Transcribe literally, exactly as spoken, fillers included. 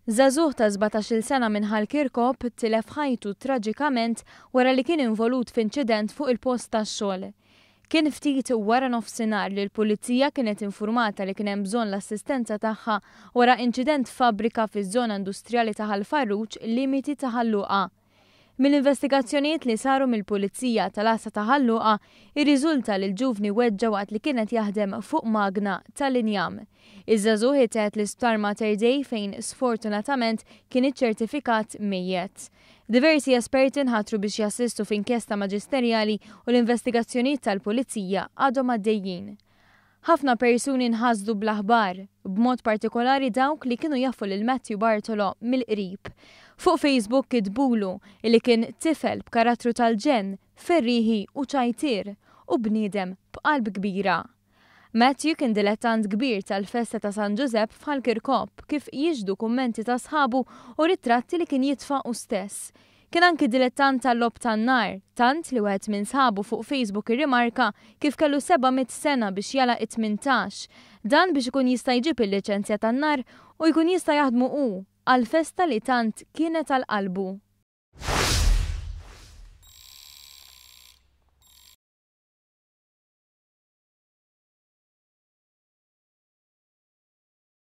Żagħżugħ ta' sbatax-il sena minn Ħal Kirkop tilef ħajtu traġikament wara li kien involut f'inċident fuq il-post tax-xogħol. Kien ftit wara nofsinhar li l-pulizija kienet infurmata li kien hemm bżonn l-assistenza tagħha wara inċident f'fabbrika fiż-żona industrijali ta' Ħal Farruġ, limiti ta' Ħal Luqa. Mill-investigazzjonijiet li saru mill-Pulizija tal-Għassa ta' Ħal Luqa, irriżulta li l-ġuvni weġġa' waqt li kienet jaħdem fuq magna tal-injam. Iż-żagħżugħ ittieħed l-Isptar Mater Dei fejn sfortunatament kien iċċertifikat mejjet. Diversi esperti nħatru biex jassistu f'inkjesta maġisterjali u l-investigazzjonijiet tal-Pulizija għadhom għaddejjin. Ħafna persuni nħasdu bl-aħbar, b'mod partikolari dawk li kienu jafu lil Matthew Bartolo mill-qrib. Fuq Facebook kitbulu li kien tifel b'karattru tal-ġenn, ferriħi u ċajtier u bniedem b'qalb kbira. Matthew kien dilettant kbir tal-festa ta' San Ġużepp f'Ħal Kirkop, kif jixhdu kummenti ta' sħabu u ritratti li kien jitfa' hu stess. Kien anki dilettant tal-logħob tan-nar, tant li wieħed minn sħabu fuq Facebook irrimarka kif kellu seba' mitt sena biex jagħlaq it-tmintax. Dan biex ikun jista' jġib il-liċenzja tan-nar u jkun jista' jaħdmu hu għal festa li tant kienet għal qalbu.